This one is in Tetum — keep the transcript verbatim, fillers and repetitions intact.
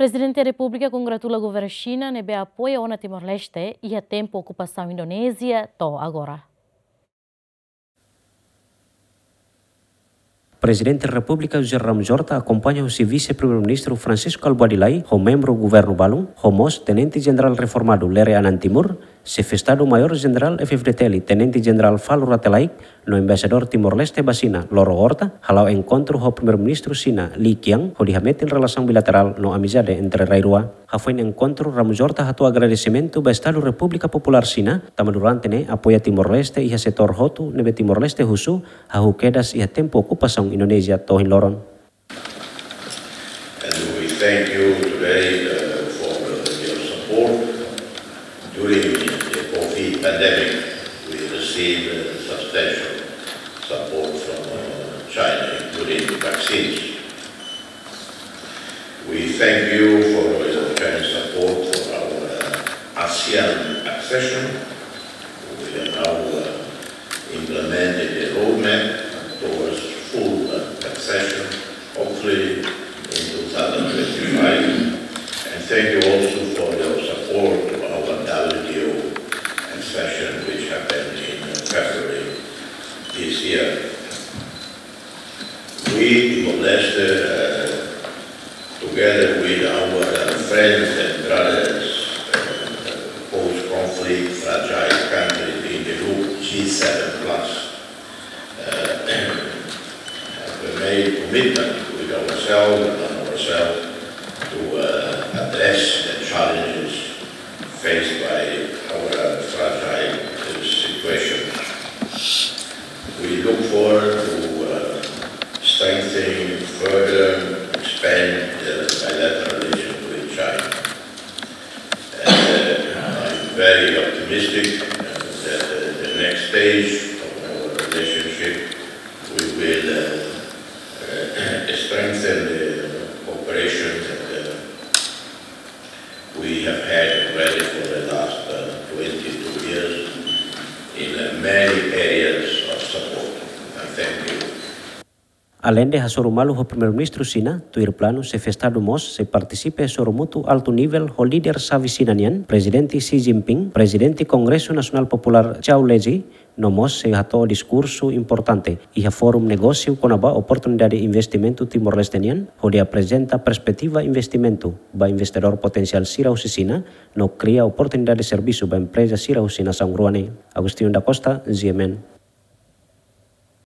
Prezidente Repúblika kongratula governu Xina ne'ebé apoia ona Timor-Leste iha tempu okupasaun Indonézia to'o agora. Prezidente Repúblika José Ramos Horta akompaña husi Vise-Primeiru-Ministru Francisco Kalbuadi Lay ho membru governu balun, ho mós Tenente Jenerál reformadu Lere Anan Timur, Xefe Estadu Maiór Jenerál F-FDTL Tenente Jenerál Falur Rate Laek, no Embaixadór Timor-Leste ba Xina, Loro Horta, hala'o enkontru ho Primeiru-Ministru Xina, Li Qiang, hodi hametin relasaun bilaterál no amizade entre rai rua. Hafoin enkontru, Ramos Horta hato'o agradesimentu ba Estadu Repúblika Populár Xina, tanba durante ne'e apoia Timor-Leste iha setór hotu ne'ebé Timor-Leste husu, hahú kedas iha tempu okupasaun Indonézia to'o ohin loron. And we thank you today, uh, for, uh, your support. During the COVID pandemic, we received, uh, substantial support from, uh, China, including vaccines. We thank you for your Chinese support for our, uh, ASEAN accession. We are now, uh, implementing the roadmap towards full, uh, accession, hopefully in two thousand twenty-five. And thank you also for your support to our W T O accession, which happened in, uh, February this year. We, Timor-Leste, uh, together with our, uh, friends and brothers, uh, post-conflict fragile countries in the group G seven plus, uh, have made commitment with ourselves and ourselves to, uh, address the challenges faced by our fragile situation. We look forward to, uh, strengthening, further expand the bilateral relations with China. And, uh, I'm very optimistic, uh, that, uh, the next stage of our relationship, we will, uh, uh, strengthen the cooperation that, uh, we have had already for the last, uh, twenty-two years in, uh, many areas of support. And thank you. Aleinde hasoru malu ho Primeiru-Ministru Xina, tuir planu Xefe Estadu mós sei partisipa sorumutu altu nivel ho líder xave Xina nian, Prezidente Xi Jinping, Prezidente Kongresu Nasionál Populár Zhao Leji, no mós sei hato'o diskursu importante iha Fórum Negósiu kona-ba oportunidade investimentu Timor-Leste nian, hodi aprezenta perspetiva investimentu ba investidór potensiál sira husi Xina, no kria oportunidade servisu ba empreza sira husi nasaun rua ne'e. Agostinho da Costa, G M N.